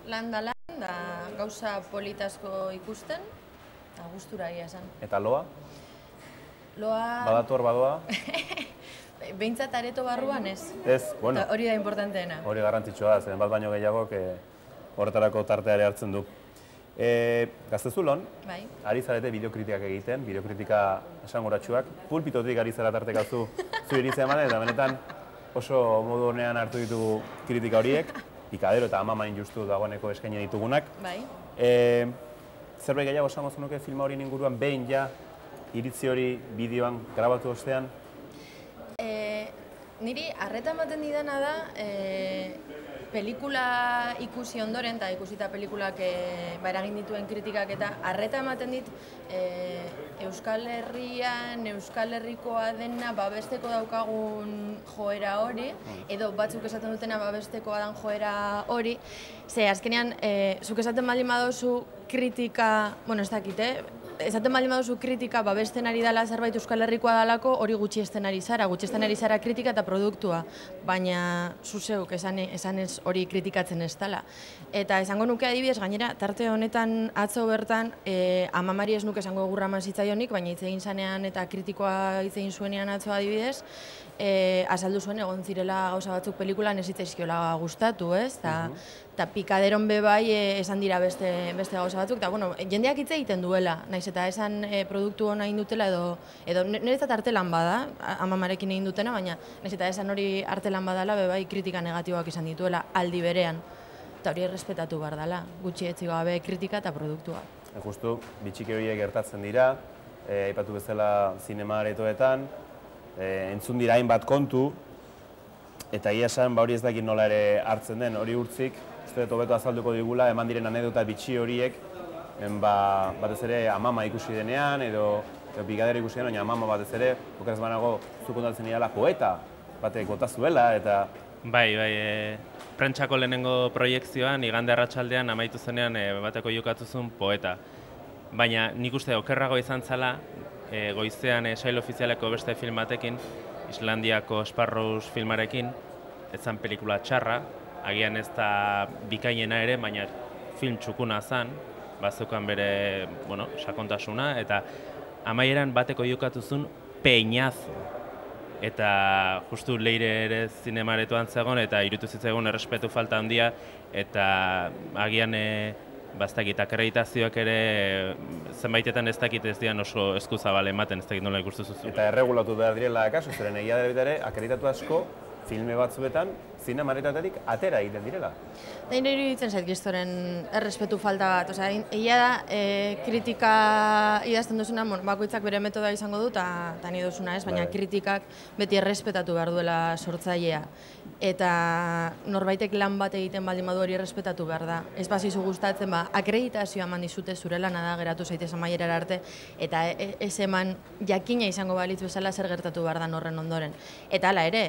lan da lan, da gauza politasko ikusten, eta gustura egia esan. Eta loa? Loa... Badator, badoa? Behintzat areto barruan ez. Ez, bueno. Hori da importanteena. Hori garrantzitsua da, zen bat baino gehiagok horretarako tarteare hartzen du. Gaztezulon, ari zarete bideokritikak egiten, bideokritika esangoratsuak. Pulpitotik ari zara tartekazu zu iritzea ematen, eta benetan oso modu honean hartu ditugu kritika horiek, Pikadero eta Amamain justu dagoeneko eskaini ditugunak. Zerbait gehiago esango zenuke filma horien inguruan, behin ja iritzi hori bideoan grabatu ostean? Niri arreta ematen didana da, pelikula ikusi ondoren, eta ikusita pelikulak eragin dituen kritikak, eta arreta ematen dit Euskal Herrian, Euskal Herrikoa dena babesteko daukagun joera hori, edo batzuk esaten dutena babestekoa dan joera hori, ze azkenean, zuk esaten baldin baduzu kritika, bueno, ez dakit, esaten baldin baduzu kritika babesten ari dela zerbait Euskal Herrikoa dalako, hori gutxiesten ari zara kritika eta produktua, baina zuzeuk esan ez hori kritikatzen ez dela. Eta esango nuke adibidez, gainera, tarte honetan atzo bertan, Amamari ez nuke esango gurra eman zitzaionik, baina hitz egin zanean eta kritikoa hitz egin zuenean atzo adibidez, azaldu zuen egon zirela gauza batzuk pelikulan ez zitzaizkiola gustatu, ez? Eta Pikaderon bebai esan dira beste gauza batzuk, eta bueno, jendeak hitz egiten duela, naiz eta esan produktu hona egin dutela edo niretzat artelan bada, Amamarekin egin dutena, baina naiz eta esan hori artelan badala bebai kritika negatiboak izan dituela aldi berean, eta hori errespetatu behar dela, gutxi etzi gabe kritika eta produktua. Justu, bitxike horiek gertatzen dira, aipatu bezala zinema aretoetan, entzun dira hainbat kontu, eta egia esan hori ez dakit nola ere hartzen den, hori urtzik, uste dut hobeto azalduko digula, eman diren anedota bitxi horiek, batez ere Amama ikusi denean, edo Pikadero ikusi denean, baina Amama batez ere, okeraz banago zuk ondatzen dira poeta, batek bota zuela, eta... Bai, prentsako lehenengo proiekzioan, igande arratsaldean amaitu zenean bateko jokatu zuen poeta. Baina nik uste okerrago izan zela, goizean sail ofizialeko beste film batekin, Islandiako Sparrows filmarekin, ez zen pelikula txarra, agian ez da bikainena ere, baina film txukuna zen, bazukan bere sakontasuna, eta amaieran bateko jokatu zuen peinazo. Eta justu Leire ere zinemaretoan zegoen, eta irutu zitzaigun errespetu falta handia, eta agian bastakit akreditazioak ere zenbaitetan ez dakit ez dian oso eskuzabal ematen, ez dakit nola ikustu zuzu. Eta erregulatu behar direla kasu, zeren egia dela ere akreditatu asko filme batzuetan zinemaretatetik atera egiten direla. Nire iruditzen zait gistoren errespetu falta bat, egia da kritika idazten duzuna, bakoitzak bere metoda izango du, eta nire duzuna ez, baina kritikak beti errespetatu behar duela sortzailea. Eta norbaitek lan bat egiten baldin badu hori errespetatu behar da. Ez bazizu gustatzen, akreditazioa eman dizute zure lana da, geratu zaitez amaierara arte, eta ez eman jakina izango balitz bezala zer gertatu behar da horren ondoren. Eta hala ere,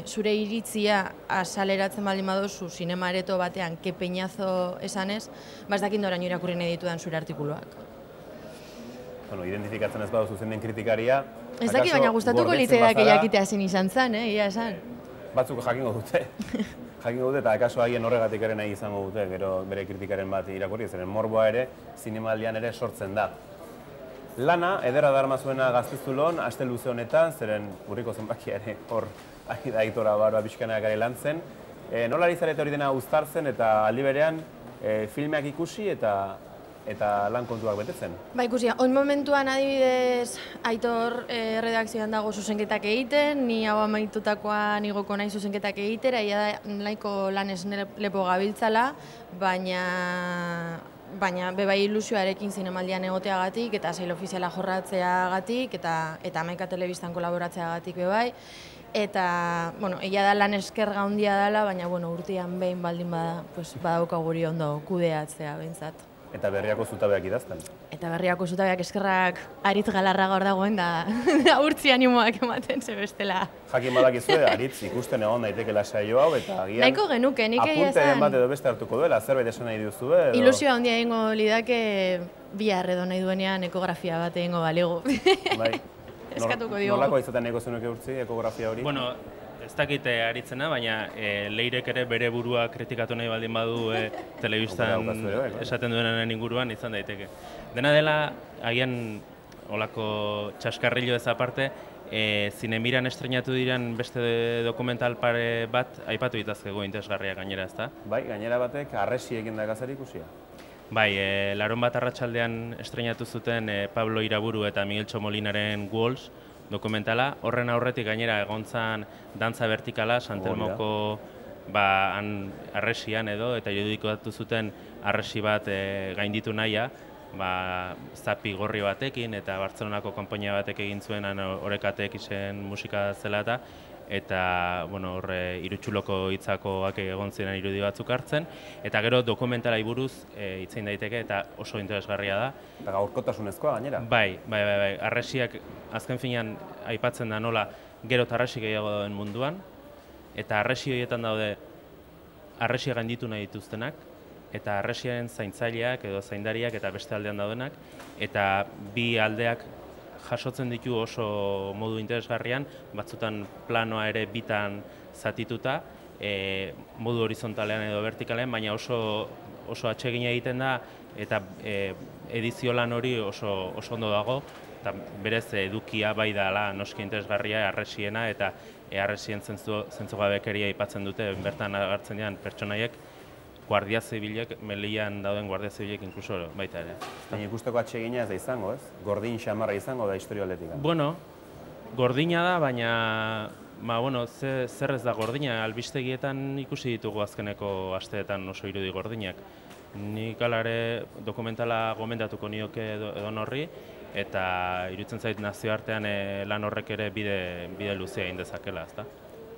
zure iritzia azaleratzen baldin baduzu zinema areto batean ke peinazo esanez, ez dakit noraino irakurri nahi ditudan zure artikuluak. Identifikatzen ez baduzu zen den kritikaria... Ez dakit, baina gustatuko litzaidak jakitea zen izan zen, ia esan. Batzuk jakingo dute. Jakingo dute, eta akaso haien horregatik ere nahi izango dute, gero bere kritikaren bat irakurri, zeren morboa ere, zinemaldian ere sortzen da. Lana, ederra darma zuena Gaztezulon, aste luze honetan, zeren urriko zenbakia ere hor aitora barba pixkanak ere lan zen. Nola ari zarete hori dena uztartzen eta aldi berean filmeak ikusi eta lan kontuak betetzen? Ikusi, on momentuan adibidez Aitor redakzioan dago zuzenketak egiten, ni hau amaitutakoan igoko nahi zuzenketak egitera, ia da nahiko lanez lepo gabiltzala, baina bebai ilusioarekin zinemaldian egoteagatik eta sail ofiziala jorratzeagatik eta Hamaika Telebistan kolaboratzeagatik bebai. Eta, egia da lan eskerga handia dela, baina urtean behin baldin badauka guri ondo kudeatzea behintzat. Eta berriako zutabeak idazten? Eta berriako zutabeak eskerrak Aritz Galarra gaur dagoen da urtzi animoak ematen ze bestela. Jakin badakizue, Aritz ikusten egon daiteke saio hau eta agian... Nahiko genuke, nik egia esan... Apunteren bat edo beste hartuko duela, zerbait esan nahi duzue edo... Ilusioa handia egingo lidake bihar edo nahi duenean ekografia bat egingo balego. Bai. Eskatuko diogu. Nolako izaten eko zenuke urtzi, ekografia hori? ez dakite aritzena, baina Leirek ere bere burua kritikatu nahi baldin badu telebistan esaten duenaren inguruan izan daiteke. Dena dela, agian olako txaskarrillo ez aparte, Zinemiran estrenatu diren beste dokumental pare bat aipatu ditazkego interesgarria gainera, ezta? Bai, gainera batek arresiekin dakar ikusia. Bai, larunbat arratsaldean estrenatu zuten Pablo Iraburu eta Miguel Txomolinaren Walls dokumentala. Horren aurretik gainera egontzan dantza vertikala, Santelmoko arresian edo, eta irudikatu zuten arresi bat gainditu nahia, zapi gorri batekin eta Bartzelonako konpainia batek egin zuen Orekatek izen musika zela eta irutsuloko hitzakoak egon ziren irudi batzuk hartzen, eta gero dokumentalai buruz hitz egin daiteke eta oso interesgarria da. Eta gaurkotasunezkoa gainera? Bai, arresiak azken finean aipatzen da nola gero eta arresi gehiago dauden munduan, eta arresi horietan daude arresia gainditu nahi dituztenak, eta arresiaren zaintzaileak edo zaindariak eta beste aldean daudenak, eta bi aldeak jasotzen ditu oso modu interesgarrian, batzutan planoa ere bitan zatituta, modu horizontalean edo vertikalean, baina oso atsegina egiten da, eta edizio lan hori oso ondo dago, eta berez edukia bai dela noski interesgarria arresiena, eta arresien zentzugabekeria aipatzen dute, bertan agertzen diren pertsonaiek, Guardia Zibilek, Melian dauden Guardia Zibilek inkluso baita ere. Baina ikusteko atsegina ez da izango, ez? Gordin xamarra izango da historia aldetik. Bueno, gordina da, baina zer ez da gordina, albistegietan ikusi ditugu azkeneko asteetan oso irudi gordinak. Nik alare dokumentala gomendatuko nioke edon horri, eta iruditzen zait nazioartean lan horrek ere bide luzea egin dezakela, ezta?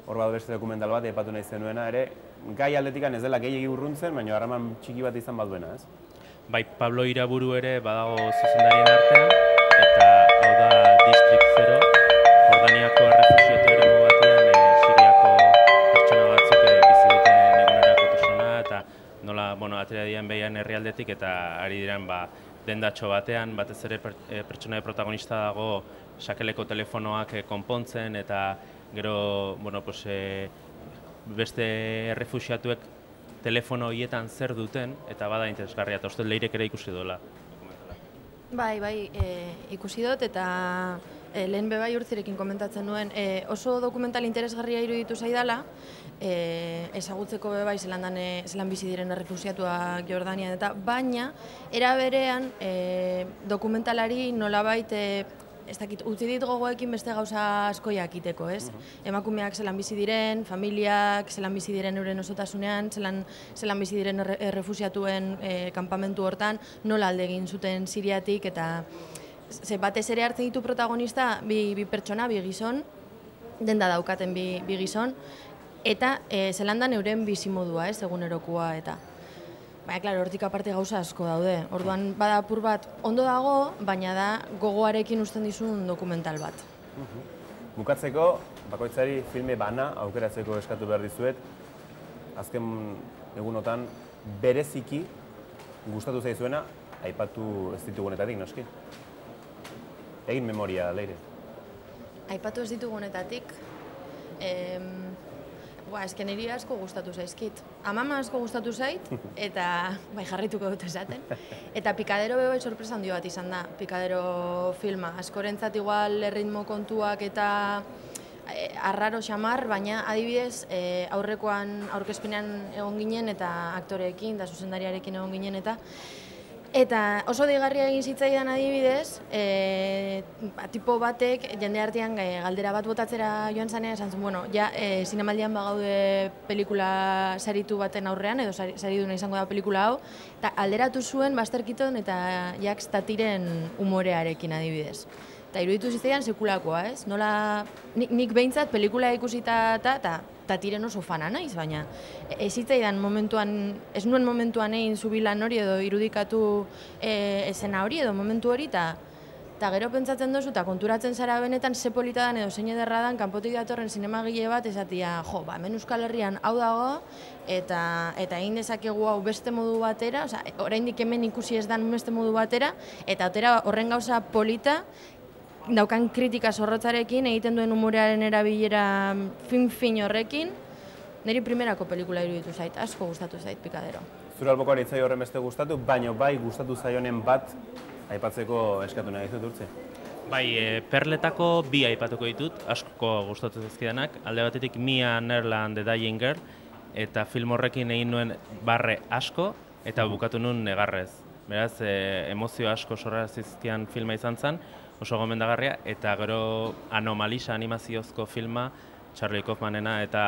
Hor bat beste dokumental bat aipatu nahi zenuena ere, gai aldetikan ez dela gehiegi urruntzen, baina harreman txiki bat izan bat duena, ez? Bai, Pablo Iraburu ere badago zuzendarien artean, eta hau da District 0, Jordaniako errefuxiatu eremu batean, Siriako pertsona batzuk bizi duten egunerako eta nola, atera diren behian herrialdetik, eta ari diren dendatxo batean, batez ere pertsona protagonista dago sakeleko telefonoak konpontzen, eta gero, beste errefuxiatuek telefono horietan zer duten, eta bada interesgarria, eta uste Leirek ere ikusi dola. Bai, ikusi dut, eta lehen bebai urtzirekin komentatzen nuen, oso dokumental interesgarria iruditu zaidala, ezagutzeko bebai zelan bizi diren errefuxiatuak Jordanian, eta baina, era berean, dokumentalari nolabait ez dakit, utzi dit gogoekin beste gauza asko jakiteko, ez? Emakumeak zelan bizi diren, familiak zelan bizi diren euren osotasunean, zelan bizi diren errefuxiatuen kanpamentu hortan, nola alde egin zuten Siriatik, eta batez ere hartzen ditu protagonista bi pertsona, bi gizon, denda daukaten bi gizon, eta zelan da euren bizimodua, ez, egunerokoa, eta baina, klaro, hortik aparte gauza asko daude. Orduan, bada apur bat ondo dago, baina da gogoarekin uzten dizun dokumental bat. Bukatzeko, bakoitzari filme bana aukeratzeko eskatu behar dizuet, azken egunotan bereziki gustatu zaizuena, aipatu ez ditugunetatik, noski? Egin memoria, Leire. Aipatu ez ditugunetatik, ezken niri asko gustatu zaizkit. Amama asko gustatu zait, eta jarrituko dut esaten. Eta Pikadero bai sorpresa handi bat izan da, Pikadero filma. Askorentzat igual erritmo kontuak eta arraro xamar, baina adibidez aurrekoan aurkezpenean egon ginen eta aktoreekin eta zuzendariarekin egon ginen eta oso deigarria egin zitzaidan adibidez, tipo batek jende artean galdera bat botatzera joan zanean, esan zuen, zinemaldian bagaude pelikula saritu baten aurrean, edo sariduna izango da pelikula hau, eta alderatu zuen Basterkiton eta Jacques Tatiren umorearekin adibidez. Eta iruditu zitzaidan sekulakoa, ez? Nola, nik behintzat pelikula ikusita eta Tatiren oso fana naiz, baina ez zitzaidan momentuan, ez nuen momentuan egin zubilan hori edo irudikatu esena hori edo momentu hori, eta gero pentsatzen dozu eta konturatzen zara benetan ze polita dan edo zein ederra dan kanpotik datorren zinemagile bat esatia, hemen Euskal Herrian hau dago eta egin dezakegu hau beste modu batera, oraindik hemen ikusi ez dan beste modu batera, eta horren gauza polita, daukan kritika zorrotzarekin, egiten duen humorearen erabilera fin horrekin, niri primerako pelikula iruditu zait, asko gustatu zait Pikadero. Zure albokoan itzai horren beste gustatu, baina bai gustatu zaionen bat aipatzeko eskatu nahi dizut Urtzi. Bai, Perletako bi aipatuko ditut, asko gustatu zaizkidanak. Alde batetik Mia Neerland The Dying Girl, eta film horrekin egin nuen barre asko, eta bukatu nuen negarrez. Beraz, emozio asko sorra zizkian filma izan zen, oso gomendagarria, eta gero Anomalisa animaziozko filma, Charlie Kaufmanena, eta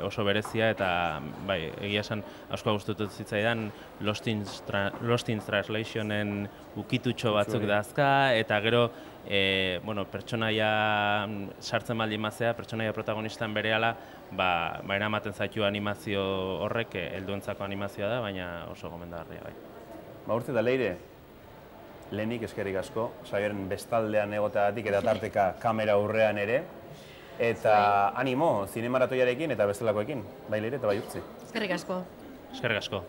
oso berezia, eta bai, egia esan asko gustatu zitzaidan Lost in Translationen ukitutxo batzuk dazka, eta gero pertsonaia sartzen baldin mazea, pertsonaia protagonistan berehala, eramaten zaitu animazio horrek, helduentzako animazioa da, baina oso gomendagarria bai. Urtzi eta Leire, lehenik eskerrik asko, saioaren bestaldean egoteagatik eta tarteka kamera aurrean ere, eta animo, zinemaratoiarekin eta bestelakoekin, bai Leire eta bai Urtzi. Eskerrik asko. Eskerrik asko.